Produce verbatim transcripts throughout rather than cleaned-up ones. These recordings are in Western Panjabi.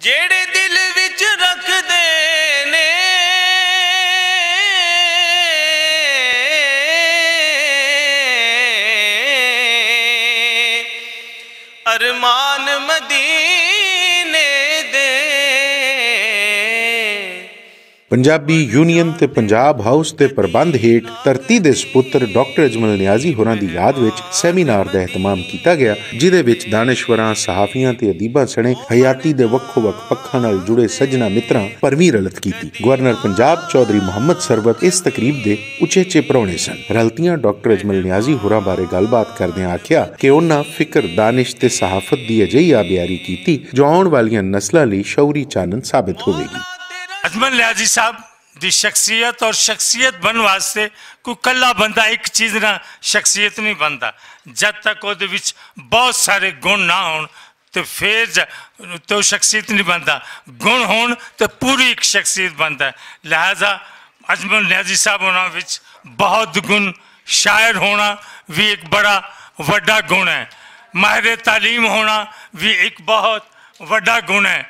جیڑے دل وچ رکھدے نے ارمان مدینے دے۔ پنجابی یونین تے پنجاب ہاؤس دے پربند ہیٹ دھرتی دے سپتر ڈاکٹر اجمل نیازی ہوراں دی یاد وچ سیمینار دا اہتمام کیتا گیا، جدے وچ دانشوراں، صحافیاں تے ادیباں سنے حیاتی دے وکھو وکھ پکھاں نال جڑے سجنا متراں پرویں رلت کیتی۔ گورنر پنجاب چوہدری محمد سروت اس تقریب دے اچے اچے پرونے سن۔ رلتیاں ڈاکٹر اجمل نیازی ہوراں بارے گل بات کردیاں آکھیا کہ انہاں فکر، دانش تے صحافت دی اجہی آبیاری کیتی جو آؤن والیاں نسلاں لئی شعوری چانن ثابت ہووے گی۔ اجمل نیازی صاحب دی شخصیت اور شخصیت بن واسطے کوئی کلا بندہ ایک چیز نہ شخصیت نہیں بنتا۔ جد تک وہ دے وچ بہت سارے گن نہ ہون تے فیر ج-، تے وہ شخصیت نہیں بنتا۔ گن ہون تے پوری ایک شخصیت بنتا ہے۔ لہذا اجمل نیازی صاحب ہونا وچ بہت گن، شاعر ہونا بھی ایک بڑا وڈا گن ہے، ماہر تعلیم ہونا بھی ایک بہت وڈا گن ہے،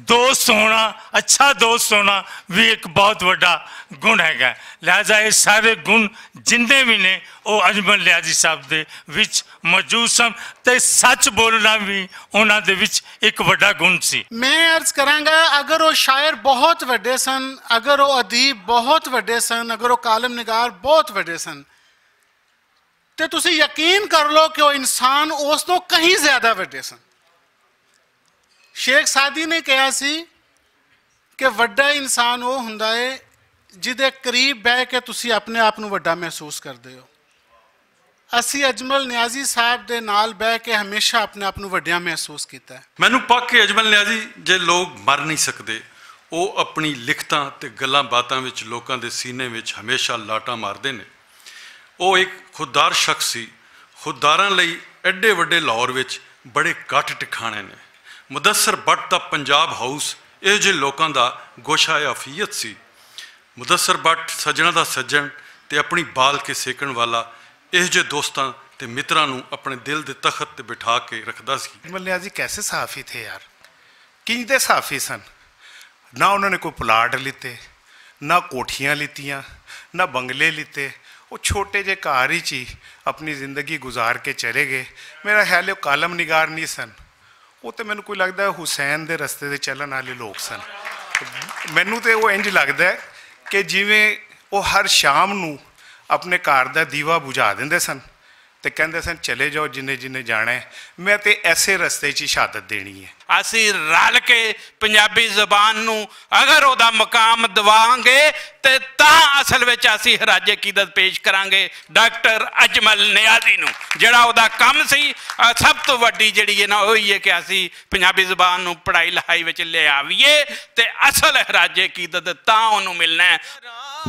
دوست ہونا، اچھا دوست ہونا بھی ایک بہت وڈا گن ہے۔ لہذا یہ سارے گن جندے بھی نے، وہ اجمل نیازی صاحب دے وچ موجود سن۔ تے سچ بولنا بھی انہاں دے وچ ایک وڈا گن سی۔ میں عرض کراں گا، اگر وہ شاعر بہت وڈے سن، اگر وہ ادیب بہت وڈے سن، اگر وہ کالم نگار بہت وڈے سن، تے تسی یقین کر لو کہ وہ انسان اس تو کہیں زیادہ وڈے سن۔ شیخ سعدی نے کہا سی کہ وڈا انسان وہ ہوندا ہے جدے قریب بہ کے تسی اپنے آپ نوں وڈا محسوس کردے ہو۔ اسی اجمل نیازی صاحب دے نال بہ کے ہمیشہ اپنے آپ نوں وڈیا محسوس کیتا ہے۔ مینوں پک کے اجمل نیازی جے لوگ مر نہیں سکدے، او اپنی لکھتاں تے گلاں باتاں وچ لوکاں دے سینے وچ ہمیشہ لاٹاں ماردے نے۔ او ایک خوددار شخص سی۔ خودداراں لئی ایڈے وڈے لاہور وچ بڑے کٹ ٹکھانے نے۔ مدثر بٹ دا پنجاب ہاؤس ایہو جے لوکاں دا گوشہ عافیت سی۔ مدثر بٹ سجنا دا سجن تے اپنی بال کے سیکن والا ایہو جے دوستاں تے متراں نوں اپنے دل دے تخت تے بٹھا کے رکھدا سی۔ اجمل نیازی کیسے صحافی تھے یار؟ کنج دے صحافی سن؟ نہ انہوں نے کوئی پلاٹ لیتے، نہ کوٹھیاں لیتیاں، نہ بنگلے لیتے۔ وہ چھوٹے جے گھر ہی چی اپنی زندگی گزار کے چلے گئے۔ میرا خیال ہے وہ کالم نگار نہیں سن، وہ تے مینوں کوئی لگدا ہے حسین دے رستے دے چلن والے لوگ سن۔ مینوں تے وہ انج لگدا ہے کہ جویں وہ ہر شام نوں اپنے گھر دا دیوا بجھا دیندے سن تے کہندے سن، چلے جاؤ جنہیں جنہیں جانا ہے، میں تے ایسے رستے چ شہادت دینی ہے۔ اسی رل کے پنجابی زبان نوں اگر او دا مقام دواں گے تے تاں اصل وچ اسی خراج عقیدت پیش کراں گے ڈاکٹر اجمل نیازی نوں، جڑا او دا کم سی۔ آ، سب تو وڈی جڑی ہے نا، او یہ کہ اسی پنجابی زبان نوں پڑھائی لکھائی وچ لے آویے تے اصل خراج عقیدت تاں اونوں ملنا ہے۔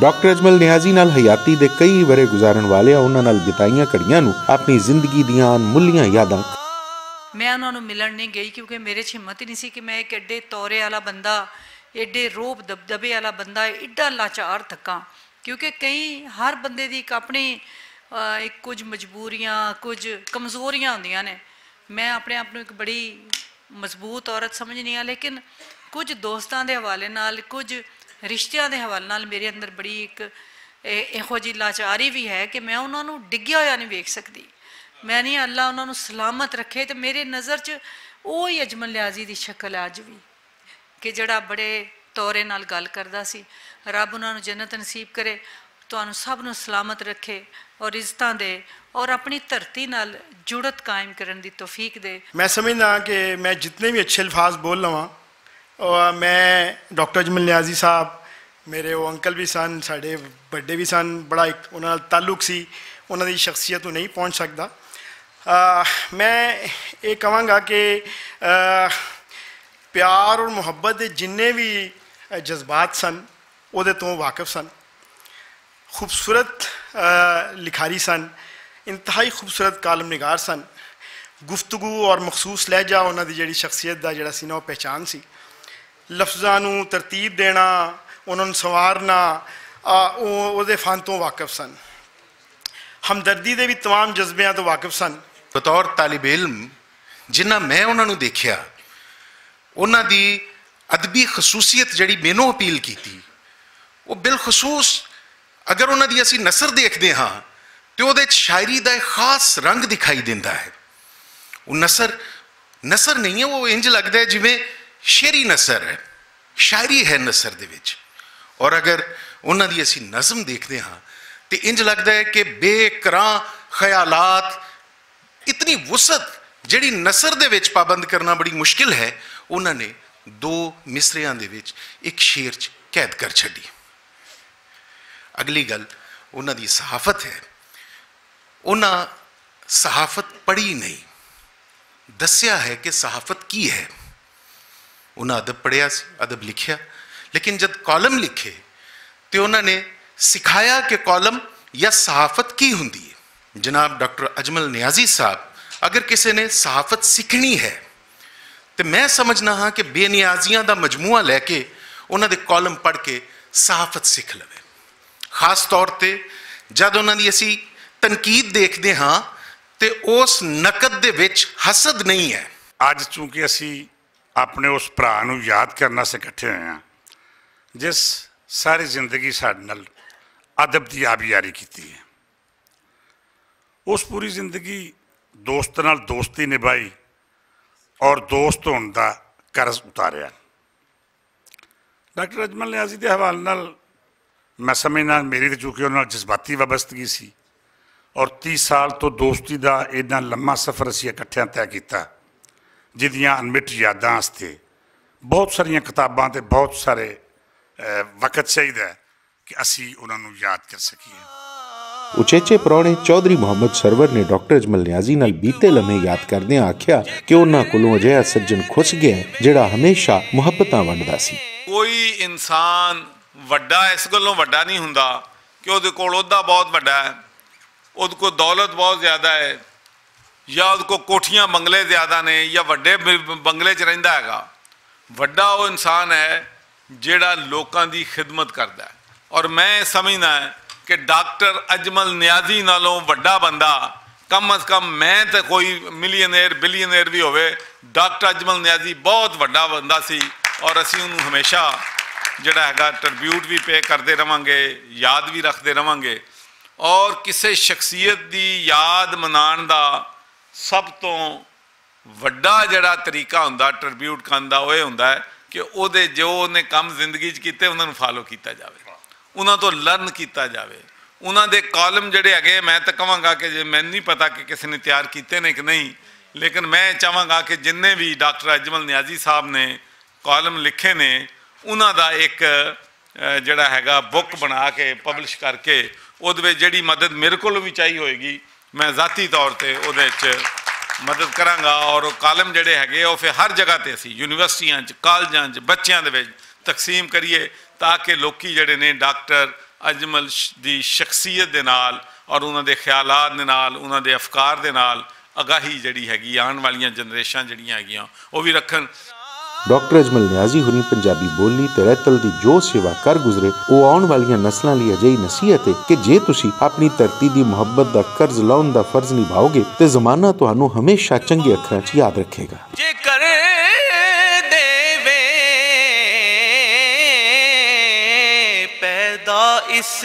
ڈاکٹر اجمل نیازی نال حیاتی دے کئی ورے گزارن والے انہاں نال بتائیاں کڑیاں نوں اپنی زندگی دیاں ان ملیاں یاداں۔ میں انہاں نوں ملن نہیں گئی کیونکہ میرے چ ہمت ہی نہیں سی کہ میں ایک ایڈے تورے والا بندہ، ایڈے روب دبدبے والا بندہ ایڈا لاچار تھکاں، کیونکہ کئی ہر بندے دی ایک اپنی، آ، ایک کچھ مجبوریاں، کچھ کمزوریاں ہوندیاں نے۔ میں اپنے آپ نوں ایک بڑی مضبوط عورت سمجھنی ہاں، لیکن کچھ دوستاں دے حوالے نال، کچھ رشتیاں دے حوالے نال میرے اندر بڑی ایک اے-، ایہو جی لاچاری بھی ہے کہ میں انہاں نوں ڈگیا ہویا نہیں ویکھ سکدی۔ میں نہیں، اللہ انہاں نوں سلامت رکھے۔ تے میرے نظر چ اوہی اجمل نیازی دی شکل ہے اج بھی، کہ جڑا بڑے تورے نال گل کردا سی۔ رب انہاں نوں جنت نصیب کرے، تانوں سب نوں سلامت رکھے اور عزتاں دے اور اپنی دھرتی نال جڑت قائم کرن دی توفیق دے۔ میں سمجھدا کہ میں جتنے بھی اچھے الفاظ بول لواں، اور میں ڈاکٹر اجمل نیازی صاحب، میرے وہ انکل بھی سن، ساڈے بڑے بھی سن، بڑا ایک انہاں نال تعلق سی، انہاں دی شخصیت نوں نہیں پہنچ سکدا۔ آ، میں یہ کہاں گا کہ، آ، پیار اور محبت دے جنہیں بھی جذبات سن، وہ دے تو واقف سن۔ خوبصورت، آ، لکھاری سن، انتہائی خوبصورت کالم نگار سن۔ گفتگو اور مخصوص لہجہ انہاں دی جڑی شخصیت دا جڑا سی نا، وہ پہچان سی۔ لفظاں نوں ترتیب دینا، انہاں نوں سنوارنا، آ، او، او دے فن تو واقف سن۔ ہمدردی دے بھی تمام جذبیاں تو واقف سن۔ بطور طالب علم جنہ میں انہاں نوں دیکھیا، انہاں دی ادبی خصوصیت جڑی مینوں اپیل کیتی، وہ بالخصوص اگر انہاں دی اسی نثر دیکھدے ہاں، تے اوہدے وچ شاعری دا ایک خاص رنگ دکھائی دیندا ہے۔ وہ نثر نثر نہیں ہے، وہ انج لگدا ہے جویں شعری نثر ہے، شاعری ہے نثر دے وچ۔ اور اگر انہاں دی اسی نظم دیکھدے ہاں، تے انج لگدا ہے کہ بے کراں خیالات، اتنی وسعت جڑی نثر دے وچ پابند کرنا بڑی مشکل ہے، انہاں نے دو مصریاں دے وچ ایک شعر چ قید کر چھڈی۔ اگلی گل انہاں دی صحافت ہے۔ انہاں صحافت پڑھی نہیں، دسیا ہے کہ صحافت کی ہے۔ انہاں ادب پڑھیا سی، ادب لکھیا، لیکن جد کالم لکھے تے انہاں نے سکھایا کہ کالم یا صحافت کی ہوندی ہے۔ جناب ڈاکٹر اجمل نیازی صاحب، اگر کسے نے صحافت سکھنی ہے تے میں سمجھنا ہاں کہ بے نیازیاں دا مجموعہ لے کے انہاں دے کالم پڑھ کے صحافت سکھ لوے۔ خاص طور تے جد انہاں دی اسی تنقید دیکھدے ہاں تے اس نقد دے وچ حسد نہیں ہے۔ اج چونکہ اسی اپنے اس بھرا نوں یاد کرنا سے اکٹھے ہوئے ہاں، جس ساری زندگی ساڈے نال ادب دی آبیاری کیتی ہے۔ اس پوری زندگی دوست نال دوستی نبھائی اور دوست ہون دا قرض اتاریا۔ ڈاکٹر اجمل نیازی دے حوالے نال میں سمجھنا، میری تے چونکہ انہاں نال جذباتی وابستگی سی اور تیس سال تو دوستی دا ایڈا لمبا سفر اسی اکٹھیاں طے کیتا، جدیاں انمٹ یاداں واسطے بہت ساریاں کتاباں تے بہت سارے، اے، وقت چاہیدا ہے کہ اسی انہاں نوں یاد کر سکیے۔ اچیچے پرانے چوہدری محمد سرور نے ڈاکٹر اجمل نیازی نال بیتے لمحے یاد کردیاں آکھیا کہ انہاں کولوں اجہا سجن کھس گیا ہے، جڑا ہمیشہ محبتاں ونڈدا سی۔ کوئی انسان وڈا اس گلوں وڈا نہیں ہوندا کہ اودے کول عہدہ بہت وڈا ہے، اودے کول دولت بہت زیادہ ہے، یا اودے کول کوٹھیاں بنگلے زیادہ نے، یا وڈے ب-، بنگلے چ رہندا ہے گا۔ وڈا او انسان ہے جیڑا لوکاں دی خدمت کردا ہے۔ اور میں سمجھنا ہے کہ ڈاکٹر اجمل نیازی نالوں وڈا بندہ، کم از کم میں تے کوئی ملینئر، بلینئر بھی ہوئے، ڈاکٹر اجمل نیازی بہت وڈا بندہ سی۔ اور اسی انہوں ہمیشہ جڑا ہے گا ٹربیوٹ بھی پے کردے رہواں گے، یاد بھی رکھدے رہواں گے۔ اور کسے شخصیت دی یاد منان دا سب تو وڈا جڑا طریقہ ہوندا ٹربیوٹ کرن دا، او اے ہوندا ہے کہ او دے جو انہیں کم زندگی چ کیتے، انہاں نوں فالو کیتا جاوے، انہاں تو لرن کیتا جاوے۔ انہاں دے کالم جڑے ہیگے، میں تے کہواں گا کہ جے، میں نہیں پتا کہ کسی نے تیار کیتے نے کہ نہیں، لیکن میں چاہواں گا کہ جننے بھی ڈاکٹر اجمل نیازی صاحب نے کالم لکھے نے، انہاں دا ایک، اے، جڑا ہیگا بک بنا کے پبلش کر کے، اودے وچ جڑی مدد میرے کولوں بھی چاہی ہوئے گی، میں ذاتی طور تے اودے وچ مدد کراں گا۔ اور او کالم جڑے ہیگے، او پھر ہر جگہ تے اسی یونیورسٹیاں چ، کالجاں چ، بچیاں دے وچ تقسیم کریے، تاکہ لوکی جڑے نے ڈاکٹر اجمل ش-، دی شخصیت دے نال اور انہاں دے خیالات دے نال، انہاں دے افکار دے نال آگاہی جڑی ہیگی، آن والیاں جنریشناں جڑیاں ہیگیاں، او وی رکھن۔ ڈاکٹر اجمل نیازی ہوری پنجابی بولی تے رہتل دی جو سیوا کر گزرے، او آن والیاں نسلاں لئی اجہی نصیحت ہے کہ جے تسی اپنی دھرتی دی محبت دا قرض لاؤن دا فرض نبھاؤ گے تے زمانہ تہانوں ہمیشہ چنگے اکھراں چ یاد رکھے گا۔ جے کر دے وے پیدا اس